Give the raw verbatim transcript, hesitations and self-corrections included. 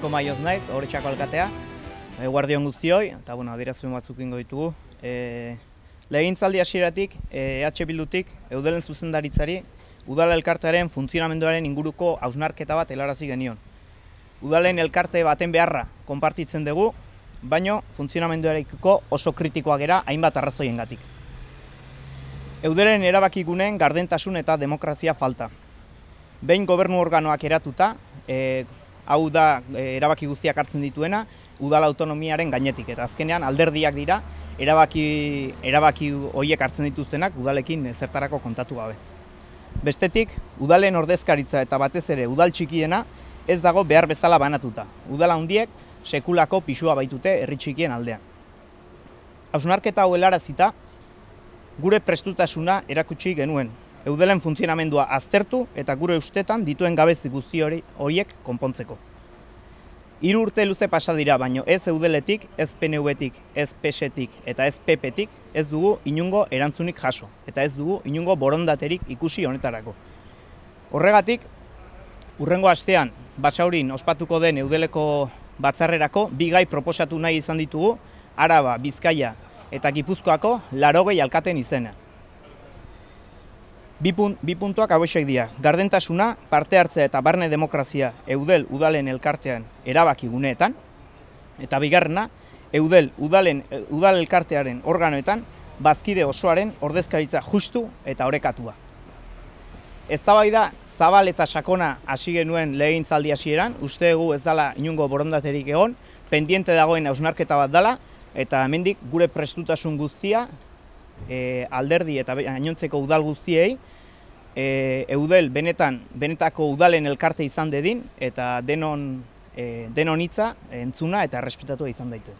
Eneko Maioz naiz, Oretxako alkatea, e, guardion guztioi, eta bueno, adierazpen batzuk ingo ditugu. E, Legegintzaldi hasieratik, E H Bildutik, Eudelen zuzendaritzari, Udal elkartearen funtzionamenduaren inguruko hausnarketa bat helarazi genion. Udalen elkarte baten beharra konpartitzen dugu, baino funtzionamenduarekiko oso kritikoak gera hainbat arrazoiengatik. Eudelen erabakiguneen gardentasun eta demokrazia falta. Behin gobernu organoak eratuta, e, hau da e, erabaki guztiak hartzen dituena, udal autonomiaren gainetik, eta azkenean alderdiak dira erabaki, erabaki horiek hartzen dituztenak udalekin zertarako kontatu gabe. Bestetik, udalen ordezkaritza eta batez ere udal txikiena ez dago behar bezala banatuta. Udal handiek sekulako pisua baitute herri txikien aldean. Hausnarketa hau helarazita, gure prestutasuna erakutsi genuen. Eudelen funtzionamendua aztertu eta gure ustetan dituen gabezi guzti horiek konpontzeko. Hiru urte luze pasa dira, baino ez Eudeletik, ez P N V-tik, ez P S tik eta ez P P-tik ez dugu inungo erantzunik jaso, eta ez dugu inungo borondaterik ikusi honetarako. Horregatik, hurrengo astean Basaurin ospatuko den Eudeleko batzarrerako bi gai proposatu nahi izan ditugu, Araba, Bizkaia eta Gipuzkoako laurogei alkateen izena. Bi, punt, bi puntuak hauexek dira, gardentasuna, parte hartzea eta barne demokrazia Eudel udalen elkartean erabaki guneetan, eta bigarrena, Eudel udalen, udal elkartearen organoetan bazkide osoaren ordezkaritza justu eta orekatua. Eztabaida zabal eta sakona hasi genuen legegintzaldi hasieran, uste dugu ez dela inungo borondaterik egon, pendiente dagoen hausnarketa bat dela, eta hemendik gure prestutasun guztia e, alderdi eta gainontzeko udal guztiei e, Eudel benetan benetako udalen elkarte izan dedin eta denon e, denon hitza entzuna eta errespetatua izan daite.